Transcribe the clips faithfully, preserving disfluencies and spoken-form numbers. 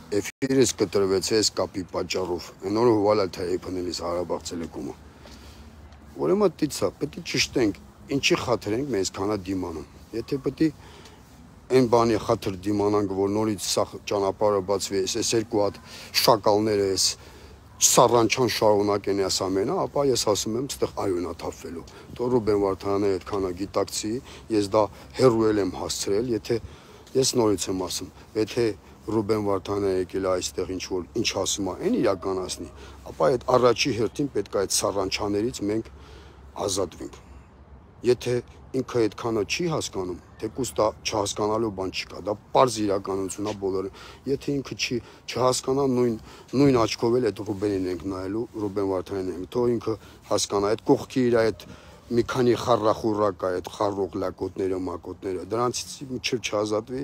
Էֆիրս կտրվեց այս կապի պատճառով, այն օրը հուվալ էլ թե եփնելիս Հարաբաղ տելեկոմը։ Ուրեմն դիցա, պետք է ճշտենք, ինչի խաթր ենք մեզ քանա դիմանում։ Եթե պետք է այն բանի խաթր դիմանանք, որ նորից սա ճանապարհը բացվի, այս երկու հատ շակալները էս սառանչան շարունակեն այս ամենը, ապա ես ասում եմ, ստեղ այոնա թափվելու։ Թող Ռուբեն Վարդանյանը այդքանա գիտակցի, ես դա հերոյ եմ հասցրել, եթե ես նորից եմ ասում, եթե Ռուբեն Վարդանյանը եկել է այստեղ ինչ որ ինչ ասում է, այն իրականացնի, ապա այդ առաջի հերթին պետք է այդ սառանչաներից մենք ազատվենք։ Եթե ինքը այդքանը չի հասկանում, թեկուզ դա չհասկանալու բան չկա, դա պարզ իրականություն է բոլորը։ Եթե ինքը չի չհասկանա, նույն նույն աչքով էլ այդ Ռուբենին ենք նայելու, Ռուբեն Վարդանյանին ենք, թող ինքը հասկանա, այդ կողքի իր այդ մի քանի խառախուռա կա, այդ խառող լակոտները, մակոտները, դրանցից մինչև չազատվի,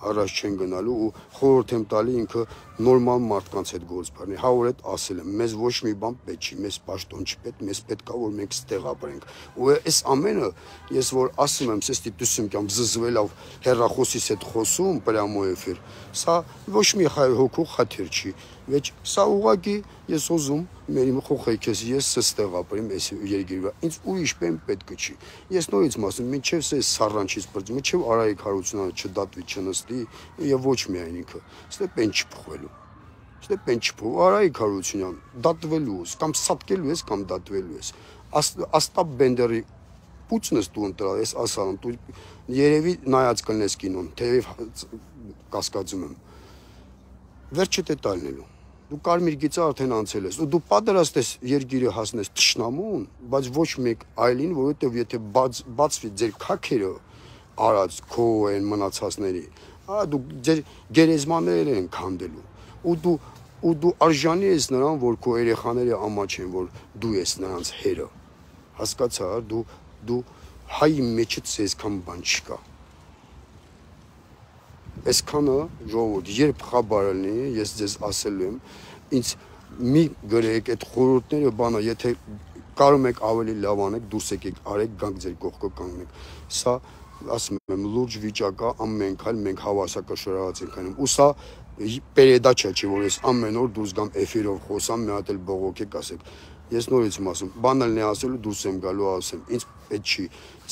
առաջ չեն գնալու ու խորհուրդ եմ տալի ինքը նորմալ մարդկանց հետ գործ բռնի։ Հա որ այդ ասել եմ, մեզ ոչ մի բան պետք չի, մեզ պաշտոն չպետք, մեզ պետք է որ մենք ստեղ ապրենք։ Ու այս ամենը ես որ ասում եմ, սեստի դուսում կամ զզվելով հերրախոսից հետ խոսում պրամո էֆիր, սա ոչ մի հոգու խաթեր չի, վեճ սա ուղղակի ես ուզում մեր խոխեքես ես ստեղ ապրեմ այս երկիրը, ինձ ուրիշ բան պետք չի։ Ես նորից ասում, մինչև այս սառանչից բրձ, մինչև Արայիկ Հարությունյանը չդատվի, չնստի եւ ոչ միայն ինքը, ստե պեն չփոխվելու։ Ստե պեն չփոխ, Արայիկ Հարությունյան դատվելու ես, կամ սատկելու ես, կամ դատվելու ես։ Աստապ Բենդերի պուծնս դու ընտրալ ես, ասալım, դու երևի նայած կլնես կինոն, թեև կասկածում եմ։ Վերջը դե տալնելու։ Դու կարմիր գիծը արդեն անցել ես, ու դու պատրաստ ես երկիրը հասնես թշնամուն, բայց ոչ մեկ այլին, որովհետև եթե բացվի ձեր քաքերը արած քո այն մնացածների, հա դու ձեր գերեզմաները են քանդելու, ու դու ու դու արժանի ես նրան, որ քո երեխաները ամաչեն, որ դու ես նրանց հերը։ Հասկացա, դու դու հայի մեջից այսքան բան չկա։ Այսքանը ժողովուրդ, երբ խաբարելնի, ես ձեզ ասելու եմ, ինձ մի գրեք այդ խորհուրդները բանը, եթե կարում եք ավելի լավ անեք, դուրս եկեք, արեք, գանք ձեր կողքը կանգնեք։ Սա ասում եմ, լուրջ վիճակ է, ամեն քայլ մենք հավասարակշռած ենք անում։ Ու սա պերեդաչա չի, որ ես ամեն օր դուրս գամ էֆիրով խոսամ, մի հատ էլ բողոքեք ասեք։ Ես նորից եմ ասում, բանալն է ասելու, դուրս եմ գալու ասեմ, ինձ պետք չի,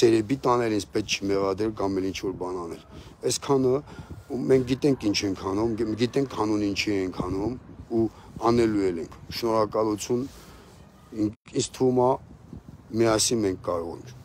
ծերեբի տանել, ինձ պետք չի մեղադրել կամ էլ ինչ-որ բան անել։ Այսքանը մենք գիտենք ինչ ենք անում, գիտենք հանուն ինչի ենք անում ու անելու ենք։ Շնորհակալություն, ինձ թվում է միասին մենք կարող ենք։